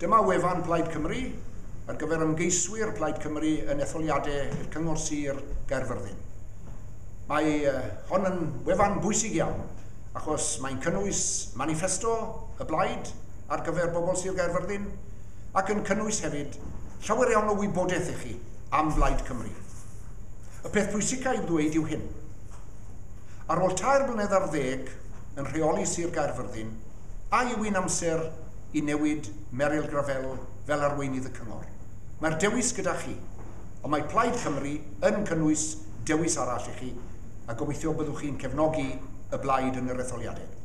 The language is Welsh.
Dyma wefan Plaid Cymru ar gyfer ymgeiswyr Plaid Cymru yn etholiadau i'r Cyngor Sir Gaerfyrddin. Mae hon yn wefan bwysig iawn achos mae'n cynnwys maniffesto y Blaid ar gyfer bobl Sir Gaerfyrddin ac yn cynnwys hefyd llawer iawn o wybodaeth i chi am Blaid Cymru. Y peth pwysica i'w ddweud yw hyn. Ar ôl 13 blynedd yn rheoli Sir Gaerfyrddin, a yw'n amser i newid Meryl Gravell fel arweinydd y cyngor? Mae'r dewis gyda chi, ond mae Plaid Cymru yn cynnwys dewis arall i chi, a gobeithio byddwch chi'n cefnogi y blaid yn yr etholiadau.